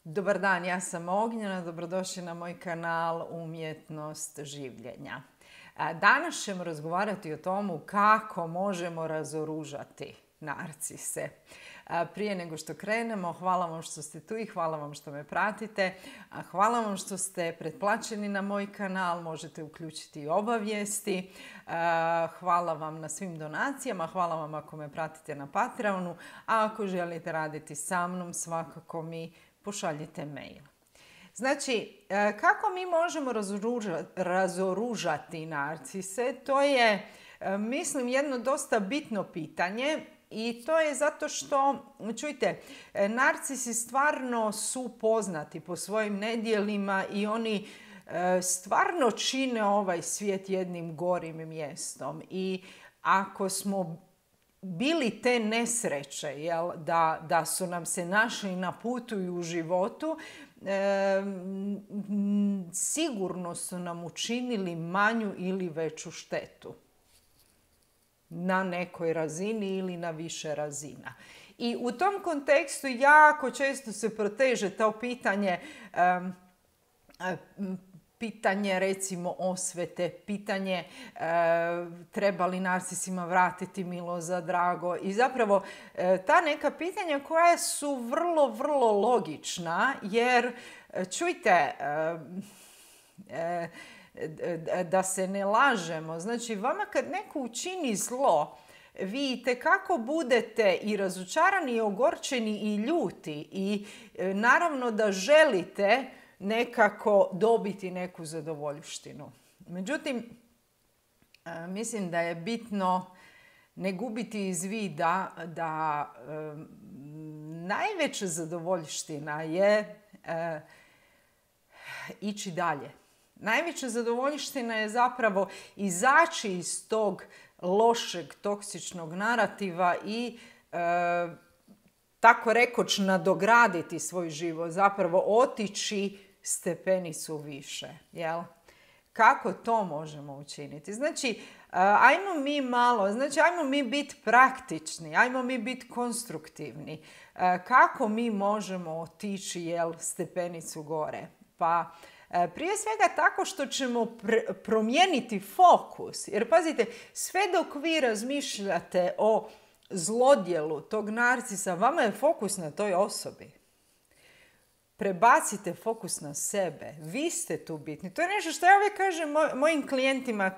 Dobar dan, ja sam Ognjena, dobrodošli na moj kanal Umjetnost življenja. Danas ćemo razgovarati o tomu kako možemo razoružati narcise. Prije nego što krenemo, hvala vam što ste tu i hvala vam što me pratite. Hvala vam što ste pretplaćeni na moj kanal, možete uključiti i obavijesti. Hvala vam na svim donacijama, hvala vam ako me pratite na Patreonu, a ako želite raditi sa mnom, svakako mi pošaljite mail. Znači, kako mi možemo razoružati narcise? To je, mislim, jedno dosta bitno pitanje i to je zato što, čujte, narcisi stvarno su poznati po svojim nedjelima i oni stvarno čine ovaj svijet jednim gorim mjestom. I ako smo bili te nesreće, da su nam se našli na putu i u životu, sigurno su nam učinili manju ili veću štetu na nekoj razini ili na više razina. I u tom kontekstu jako često se proteže to pitanje recimo osvete, pitanje treba li narcisima vratiti milo za drago i zapravo ta neka pitanja koja su vrlo, vrlo logična jer čujte, da se ne lažemo, znači vama kad neko učini zlo, vi itekako budete i razočarani i ogorčeni i ljuti i naravno da želite nekako dobiti neku zadovoljštinu. Međutim, mislim da je bitno ne gubiti iz vida da najveća zadovoljština je ići dalje. Najveća zadovoljština je zapravo izaći iz tog lošeg, toksičnog narativa i tako rekoć nadograditi svoj život, zapravo otići stepenicu više. Jel? Kako to možemo učiniti? Znači, ajmo mi biti praktični, ajmo mi biti konstruktivni. Kako mi možemo otići stepenicu gore? Pa prije svega tako što ćemo promijeniti fokus. Jer pazite, sve dok vi razmišljate o zlodjelu tog narcisa, vama je fokus na toj osobi. Prebacite fokus na sebe. Vi ste tu bitni. To je nešto što ja uvijek kažem mojim klijentima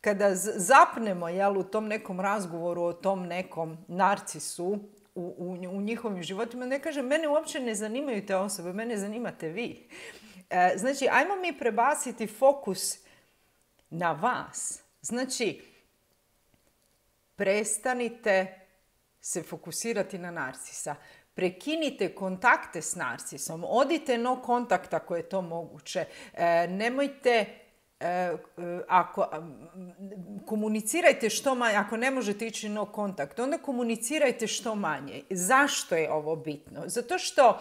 kada zapnemo u tom nekom razgovoru o tom nekom narcisu u njihovim životima. Ne kažem, mene uopće ne zanimaju te osobe, mene zanimate vi. Znači, ajmo mi prebaciti fokus na vas. Znači, prestanite se fokusirati na narcisa. Prekinite kontakte s narcisom. Odite no kontakt ako je to moguće. Nemojte, komunicirajte što manje. Ako ne možete ići no kontakt, onda komunicirajte što manje. Zašto je ovo bitno? Zato što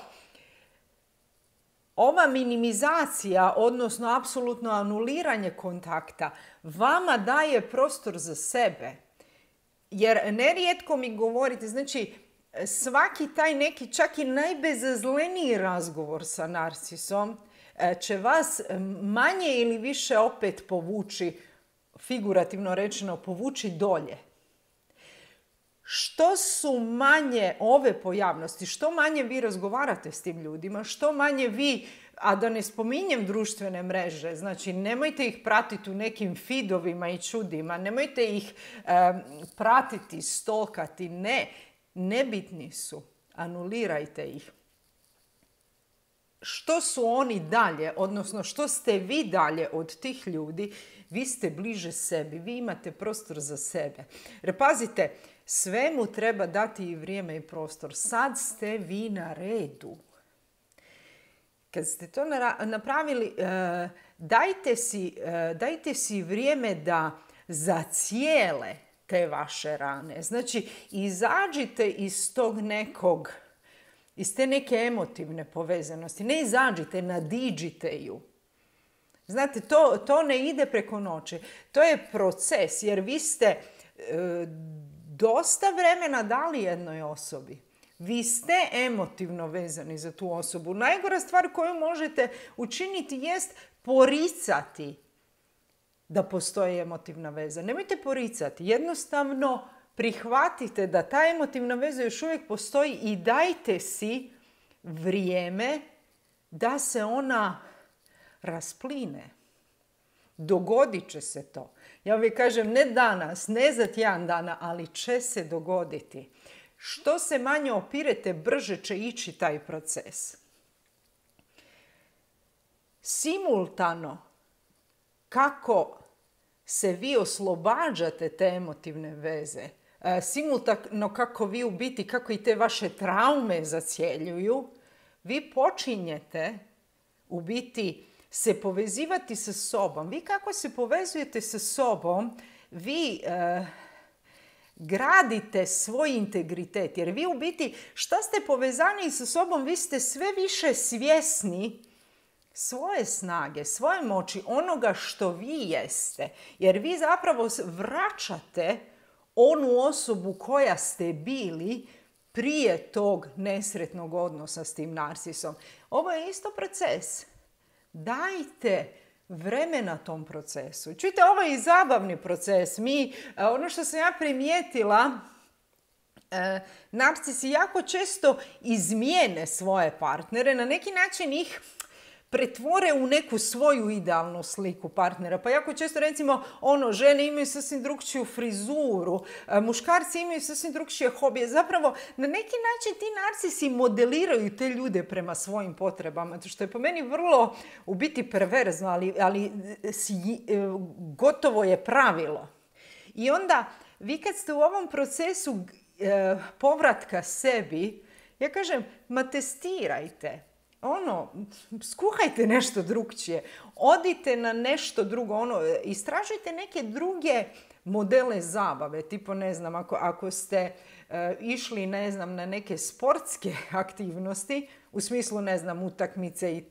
ova minimizacija, odnosno apsolutno anuliranje kontakta, vama daje prostor za sebe. Jer nerijetko mi govorite, znači svaki taj neki, čak i najbezazleniji razgovor sa narcisom će vas manje ili više opet povući, figurativno rečeno, povući dolje. Što su manje ove pojavnosti, što manje vi razgovarate s tim ljudima, što manje vi, a da ne spominjem društvene mreže, znači nemojte ih pratiti u nekim feedovima i čudima, nemojte ih pratiti, stalkati, nebitni su, anulirajte ih. Što su oni dalje, odnosno što ste vi dalje od tih ljudi, vi ste bliže sebi, vi imate prostor za sebe. Jer pazite, svemu treba dati i vrijeme i prostor. Sad ste vi na redu. Kad ste to napravili, dajte si vrijeme da zacijele te vaše rane. Znači, izađite iz te neke emotivne povezanosti. Ne izađite, nadiđite ju. Znate, to ne ide preko noći. To je proces, jer vi ste dosta vremena dali jednoj osobi. Vi ste emotivno vezani za tu osobu. Najgora stvar koju možete učiniti jest poricati da postoji emotivna veza. Nemojte poricati. Jednostavno prihvatite da ta emotivna veza još uvijek postoji i dajte si vrijeme da se ona raspline. Dogodit će se to. Ja uvijek kažem, ne danas, ne za tjedan dana, ali će se dogoditi. Što se manje opirete, brže će ići taj proces. Simultano, kako se vi oslobađate te emotivne veze, simultano kako vi u biti, kako i te vaše traume zacjeljuju, vi počinjete u biti se povezivati sa sobom. Vi kako se povezujete sa sobom, vi gradite svoj integritet. Jer vi u biti, šta ste povezani sa sobom, vi ste sve više svjesni svoje snage, svoje moći, onoga što vi jeste. Jer vi zapravo vraćate onu osobu koja ste bili prije tog nesretnog odnosa s tim narcisom. Ovo je isto proces. Dajte vremena tom procesu. Čujte, ovo je i zabavni proces. Ono što sam ja primijetila, narcisi jako često izmijene svoje partnere, na neki način ih pretvore u neku svoju idealnu sliku partnera. Pa jako često, recimo, žene imaju sasvim drugčiju frizuru, muškarci imaju sasvim drugčije hobije. Zapravo, na neki način ti narcisi modeliraju te ljude prema svojim potrebama, što je po meni vrlo u biti perverzno, ali gotovo je pravilo. I onda, vi kad ste u ovom procesu povratka sebi, ja kažem, testirajte. Skuhajte nešto drugčije, odite na nešto drugo, istražujte neke druge modele zabave, tipo, ne znam, ako ste išli, ne znam, na neke sportske aktivnosti, u smislu, ne znam, utakmice i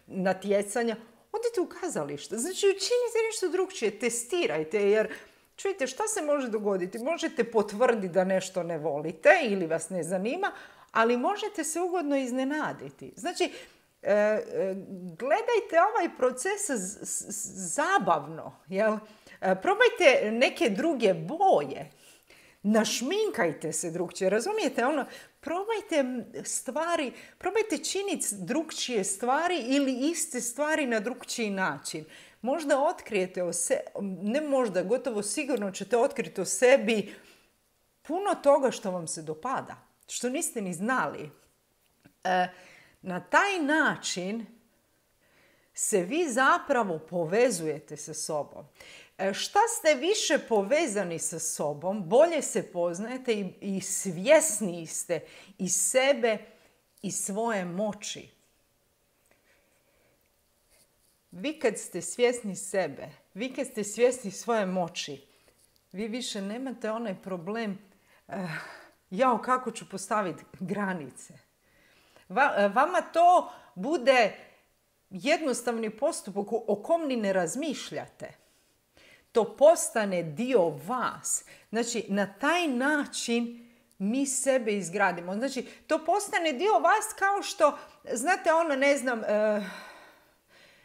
natjecanja, odite u kazalište. Znači, učinite nešto drugčije, testirajte, jer čujte, šta se može dogoditi? Možete potvrditi da nešto ne volite ili vas ne zanima, ali možete se ugodno iznenaditi. Znači, gledajte ovaj proces zabavno. Jel? Probajte neke druge boje. Našminkajte se drugčije. Razumijete? Probajte stvari, probajte činiti drugčije stvari ili iste stvari na drugčiji način. Možda otkrijete ne možda, gotovo sigurno ćete otkriti o sebi puno toga što vam se dopada, što niste ni znali. Na taj način se vi zapravo povezujete sa sobom. Šta ste više povezani sa sobom, bolje se poznajete i svjesniji ste i sebe i svoje moći. Vi kad ste svjesni sebe, vi kad ste svjesni svoje moći, vi više nemate onaj problem kako ću postaviti granice. Vama to bude jednostavni postupak o kom ni ne razmišljate. To postane dio vas. Znači, na taj način mi sebe izgradimo. Znači, to postane dio vas kao što, znate, ne znam,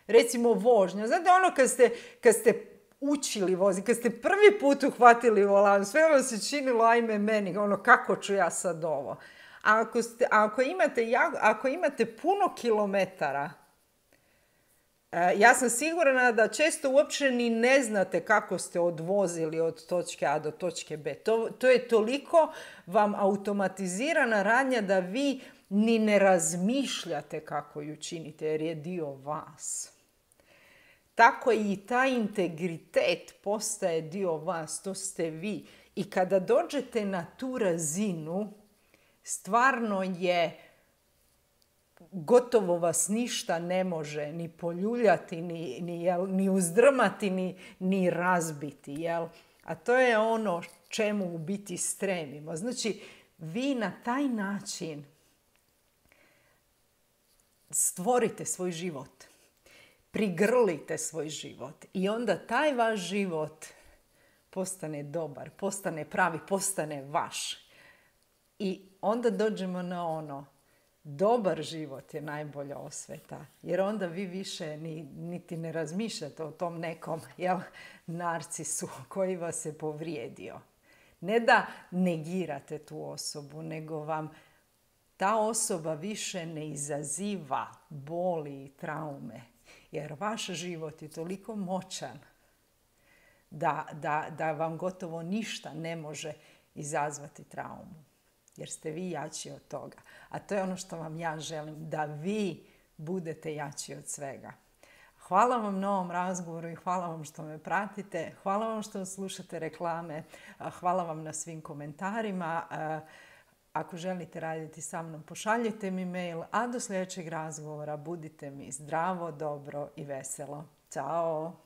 recimo vožnja. Znate, kad ste učili voziti, kad ste prvi put uhvatili volan, sve vam se činilo, ajme meni, kako ću ja sad ovo. A ako imate puno kilometara, ja sam sigurna da često uopće ni ne znate kako ste odvozili od točke A do točke B. To je toliko vam automatizirana radnja da vi ni ne razmišljate kako ju činite, jer je dio vas. Tako i taj integritet postaje dio vas, to ste vi. I kada dođete na tu razinu, stvarno je, gotovo vas ništa ne može ni poljuljati, ni uzdrmati, ni razbiti. Jel? A to je ono čemu u biti stremimo. Znači, vi na taj način stvorite svoj život. Prigrlite svoj život. I onda taj vaš život postane dobar, postane pravi, postane vaš. I onda dođemo na ono, dobar život je najbolja osveta, jer onda vi više niti ne razmišljate o tom nekom narcisu koji vas je povrijedio. Ne da negirate tu osobu, nego vam ta osoba više ne izaziva boli i traume, jer vaš život je toliko moćan da vam gotovo ništa ne može izazvati traumu. Jer ste vi jači od toga. A to je ono što vam ja želim, da vi budete jači od svega. Hvala vam na ovom razgovoru i hvala vam što me pratite. Hvala vam što slušate reklame. Hvala vam na svim komentarima. Ako želite raditi sa mnom, pošaljite mi mail. A do sljedećeg razgovora budite mi zdravo, dobro i veselo. Ćao!